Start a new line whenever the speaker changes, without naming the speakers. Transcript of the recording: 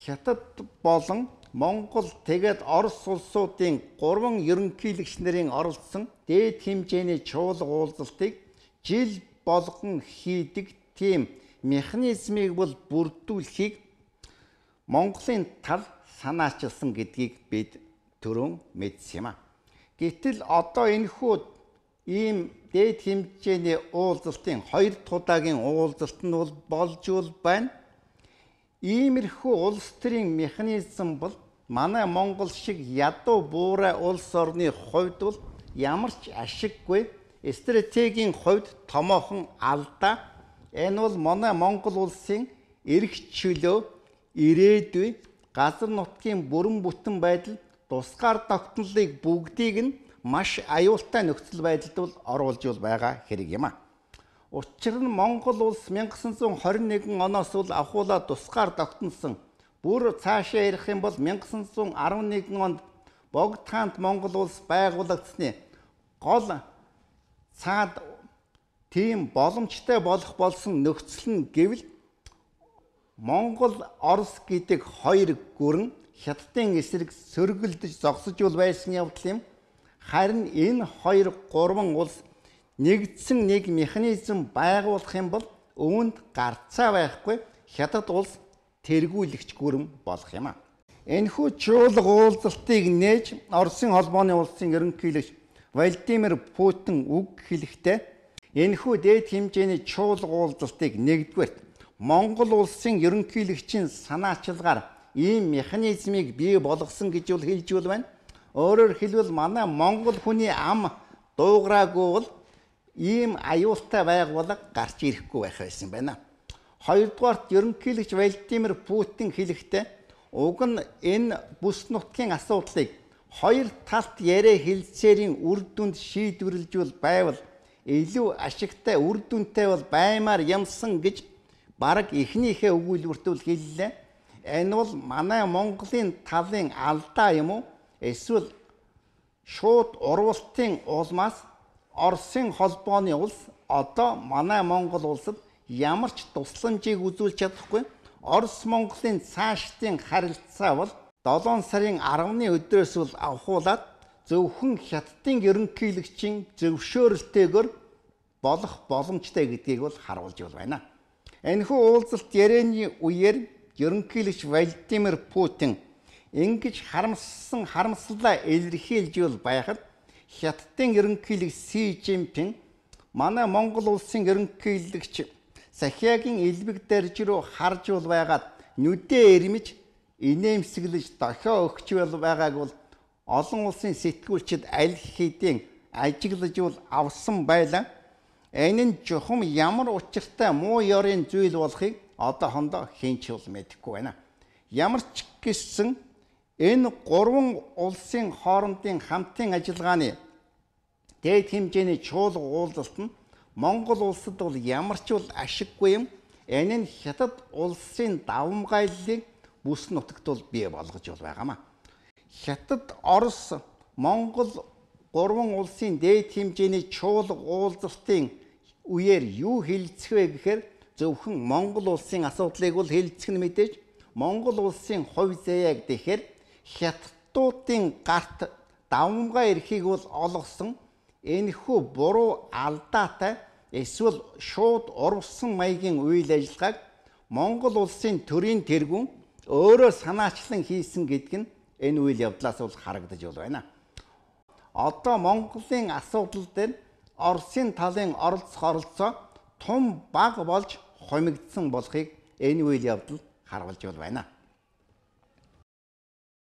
Хятад болон Монгол тэгээд Орос улсуудын 3 ерөнхийлөгч нарын оролцсон дээд хэмжээний чуулга уулзалтыг жил болгон хийдэг тийм механизмыг бол бүрдүүлэхийг Монголын тал санаачилсан гэдгийг бид түрүүн мэдсэн юм а. Гэтэл одоо энэхүү ийм дээд хэмжээний уулзалтын 2 удаагийн уулзалт нь бол болж байна. Иймэрхүү улс төрийн механизм бол манай Монгол шиг ядуу буурай улс орны хувьд бол ямар ч ашиггүй, стратегийн хувьд томоохон алдаа. Энэ бол манай Монгол улсын эрх чөлөө, ирээдүй, газар нутгийн бүрэн бүтэн байдал, тусгаар тогтнолыг бүгдийг нь маш аюултай нөхцөл байдалд бол оруулж байгаа хэрэг юм а. Учир нь Монгол улс 1921 оноос бол ахуулаа тусгаар тогтносон. Бүр цаашаа ярих юм бол 1911 онд Богд хаант Монгол улс байгуулагдсны гол цаад тийм боломжтой болох болсон нөхцөл нь гэвэл Монгол Орос гэдэг 2 гүрэн Хятадын эсрэг сөргөлдөж зогсож байсан явдал юм. Харин энэ 2-3 улс нэгдсэн нэг механизм байгуулах юм бол үүнд гарцаа байхгүй Хятад улс тэргүүлэгч гүрэн болох юм а. Энэхүү чуулга уулзалтыг нээж Оросын холбооны улсын ерөнхийлөгч Владимир Путин үг хэлэхдээ энэхүү дээд хэмжээний чуулга уулзалтыг нэгдүгээр Монгол улсын ерөнхийлөгчийн санаачилгаар ийм механизмыг бий болгосон гэж хэлж байна. Өөрөөр хэлбэл манай Монгол хүний ам дуугараагүй бол ийм аюултай байгууллага гарч ирэхгүй байх байсан байна. Хоёрдугаарт ерөнхийлөгч Владимир Путин хэлэхдээ уг нь энэ бүс нутгийн асуудлыг 2 талт яриа хэлцээрийн үр дүнд шийдвэрлэж байвал илүү ашигтай үр дүнтэй бол баймаар юмсан гэж бараг эхнийхээ өгүүлбэрт хэллээ. Энэ бол манай Монголын талын алдаа юм уу? Эсвэл шууд урвалтын улмаас Оросын холбооны улс одоо манай Монгол улсад ямар ч тусламжийг үзүүлж чадахгүй. Орос Монголын цаашдын харилцаа бол 7 сарын 10-ны өдрөөс бол авахуулаад зөвхөн Хятадын ерөнхийлөгчийн зөвшөөрөлтэйгээр болох боломжтой гэдгийг бол харуулж байна. Энэхүү уулзалт ярианы үеэр ерөнхийлөгч Владимир Путин ингэж харамслалаа илэрхийлж байхад Хятадын ерөнхийлөгч Си Жинпин манай Монгол улсын ерөнхийлөгч Сахиагийн элбэг дэрж рүү харж байгаад нүдээ ирмэж инээмсэглэж дохио өгч байгааг бол олон улсын сэтгүүлчид аль хэдийн ажиглаж авсан байлаа. Энэ нь жухам ямар учиртай муу ёрын зүйл болохыг одоохондоо хинч мэдэхгүй байна. Ямар ч гэсэн энэ 3 улсын хоорондын хамтын ажиллагааны дээд хэмжээний чуулга уулзалт нь Монгол улсад бол ямар ч ашиггүй юм. Энэ нь Хятад улсын давмгайллыг бүс нутагт бол бий болгож байгаамаа. Хятад, Орос, Монгол 3 улсын дээд хэмжээний чуулга уулзалтын үеэр юу хэлцэх вэ гэхээр зөвхөн Монгол улсын асуудлыг бол хэлцэх нь мэдээж Монгол улсын хувь заяаг гэхээр Хятадуудын гарт давмгай эрхийг бол олгосон энэхүү буруу алдаатай эсвэл шууд урвсан маягийн үйл ажиллагааг Монгол улсын төрийн тэргүүн өөрөө санаачлан хийсэн гэдэг нь энэ үйл явдлаас бол харагдаж байна. Одоо Монголын асуудал дээр Оросын талын оролцоо том баг болж хомигдсон болохыг энэ үйл явдал харуулж байна.